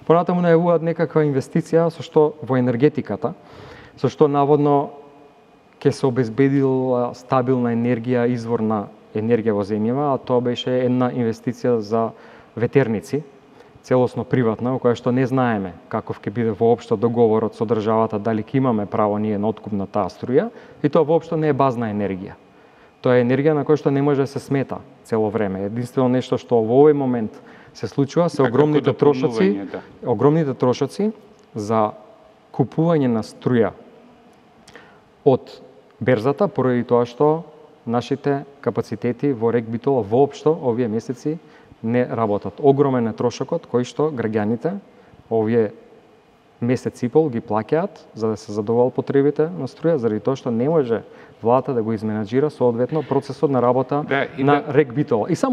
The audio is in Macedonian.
Понатаму најавуваат некаква инвестиција со што во енергетиката, со што наводно ќе се обезбедила стабилна енергија, изворна енергија во земјава, а тоа беше една инвестиција за ветерници, целосно приватна, во која што не знаеме каков ќе биде воопшто договорот со државата, дали ќе имаме право ние на откуп на таа струја, и тоа воопшто не е базна енергија. Тоа е енергија на која што не може да се смета цело време. Единствено нешто што во овој момент се случува се огромните трошоци за купување на струја од берзата, поради тоа што нашите капацитети во РЕК Битола воопшто овие месеци не работат. Огромен е трошокот кој што граѓаните овие месец и пол ги плаќаат за да се задоволат потребите на струја, заради тоа што не може владата да го изменаџира соодветно процесот на работа на РЕК Битола. И само